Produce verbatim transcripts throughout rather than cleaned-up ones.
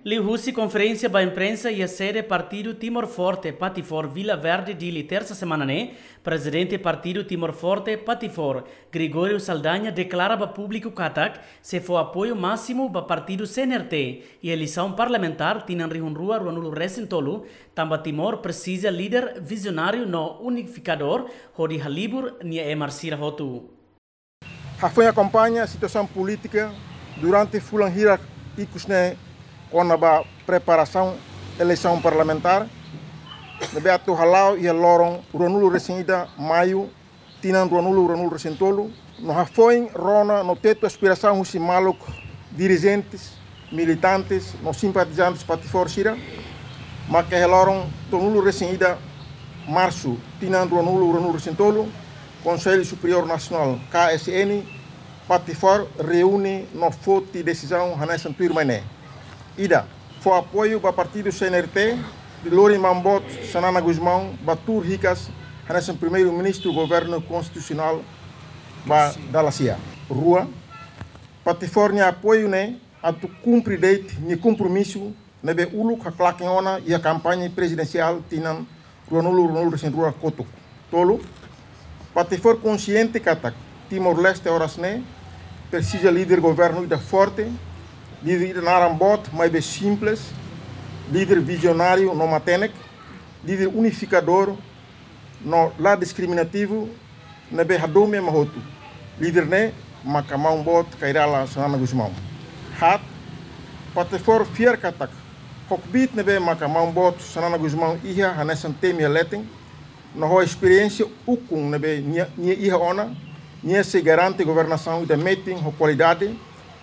Liuhusi konferénsia ba imprensa iha sede Partidu Timor Forte, Patifor, Vila Verde, Dili, tersa semana ne'e, Prezidente Partidu Timor Forte, Patifor, Gregório Saldanha, deklara ba públiku katak sei fó apoiu másimu ba partidu C N R T iha eleisaun parlamentár tinan rihun rua ruanulu resin tolu, tanba Timor presiza líder vizionáriu no unifikadór hodi halibur nia ema sira hotu. Hafoin akompaña situasaun polítika durante fulan hirak ikus ne'e kona-ba preparasaun eleisaun parlamentár ne'ebé atu hala'o iha loron ruanulu resin ida Maiu, tinan ruanulu ruanulu resin tolu, no hafoin rona no tetu aspirasaun husi maluk dirijentes, militantes no simpatizantes Patifor sira, maka iha loron tolunulu resin ida Marsu, tinan ruanulu ruanulu resin tolu, Konsellu Superiór Nasionál, K S N, Patifor reúne no foti desizaun hanesan tuirmai ne'e. Ida, fó apoiu ba partidu C N R T, hodi lori Maun Boot Xanana Gusmão ba tuur hikas hanesan Primeiru-Ministru Governu Konstitusionál ba dala sia. Rua, Patifor nia apoiu ne'e atu kumpre de'it nia kompromisu ne'ebé uluk haklaken ona iha kampaña prezidensiál tinan ruanulu ruanulu resin rua kotuk. Tolu, Patifor konsiente katak Timor-Leste oras ne'e presiza líder governu ida forte, líder ida naran boot maibé simples, líder vizionáriu no matenek, líder unifikadór no la diskriminativu, ne'ebé hadomi ema hotu. Líder ne'e maka Maun Boot Kay Rala Xanana Gusmão. Haat, Patifor fiar katak ho kbiit ne'ebé maka Maun Boot Xanana Gusmão iha hanesan temi iha leten, no ho esperiénsia ukun ne'ebé nia, nia iha ona, nia sei garante governasaun ida metin ho kualidade,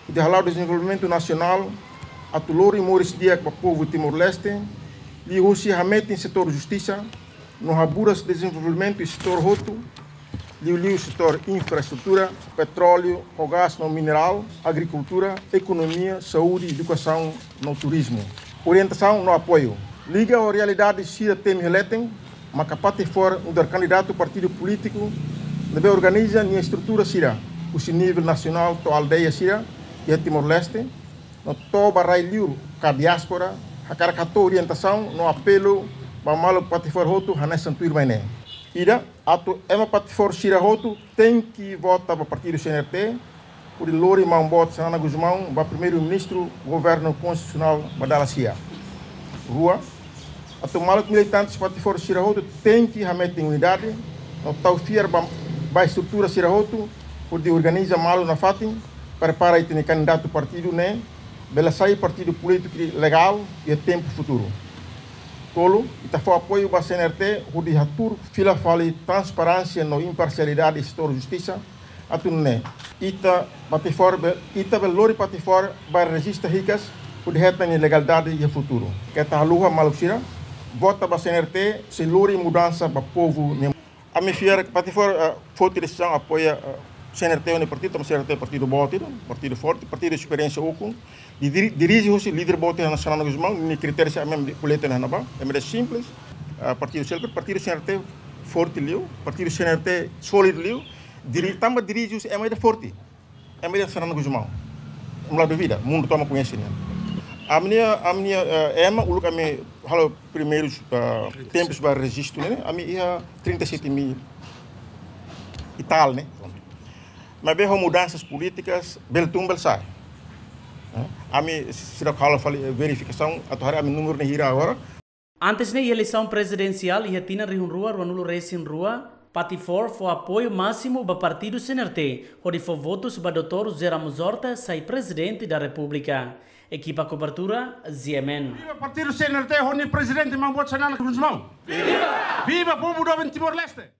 hodi hala'o dezenvolvimentu nasionál, atu lori moris di'ak ba povu Timor-Leste, liuhusi hametin setór justisa, no haburas dezenvolvimentu setór hotu, liuliu setór infraestrutura, petróleu, ho gás no minerál, agrikultura, ekonomia, saúde, edukasaun no turizmu. Orientasaun no apoiu. Liga ho realidade sira temi iha leten, maka Patifor nu'udar kandidatu partidu polítiku ne'ebé organiza nia estrutura sira, husi nivel nasionál to'o aldeia sira iha Timor-Leste, no to'o ba rai-liur ka diáspora, hakarak hato'o orientasaun no apelu ba maluk Patifor hotu hanesan tuirmai ne'e. Ida, atu ema Patifor sira hotu tenke vota ba partidu C N R T, hodi lori Maun Boot Xanana Gusmão ba Primeiru-Ministru Governu Konstitusionál ba dala sia. Rua, atu maluk militantes Patifor sira hotu tenke hametin unidade, no tau fiar ba, ba estrutura sira hotu, hodi organiza malu nafatin, prepara ita-nia kandidatu partidu ne'e, bele sai partidu polítiku legál iha tempu futuru. Tolu, ita fó apoiu ba C N R T, hodi hatuur fila fali transparénsia no imparsialidade setór justisa, atu nune'e ita Patifor be-, ita bele lori Patifor ba rejista hikas, hodi hetan nia legalidade iha futuru. Keta haluha maluk sira, vota ba C N R T, sei lori mudansa ba povu nia. Ami fiar Patifor, eh, foti desizaun apoia, eh, C N R T ho nia partidu, tanba C N R T partidu boot ida, partidu forte, partidu esperiénsia ukun, di-, diri-, dirije husi líder boot ida Xanana Gusmão, nia kritériu sira ami polítika ne'e ba, ema ida simples, eh, partidu selker, partidu C N R T forte liu, partidu C N R T sólidu liu, diri-, tanba dirije husi ema ida forte. Ema ida Xanana Gusmão. Ami la duvida, mundu tomak koñese nia. Ami-nia, ami-nia, eh, ema, uluk ami halo primeirus, eh, tempus ba rejistu ne'e, ami iha trinta e sete mil e tal, ne'e. Maibé ho mudansas polítikas, bele tun bele sa'e. Eh, ami seidauk halo fali verifikasaun, atu haree ami númeru ne'e hira agora. Antes ne'e, iha eleisaun prezidensiál iha tinan rihun rua ruanulu resin rua, Patifor fó apoiu másimu ba partidu C N R T, hodi fó votus ba doutór José Ramos Horta sai Prezidente da Repúblika. Ekipa kobertura, Z M N. Viva partidu C N R T, ho nia prezidente Maun Boot Xanana Gusmão. Viva! Viva povu doben Timor-Leste!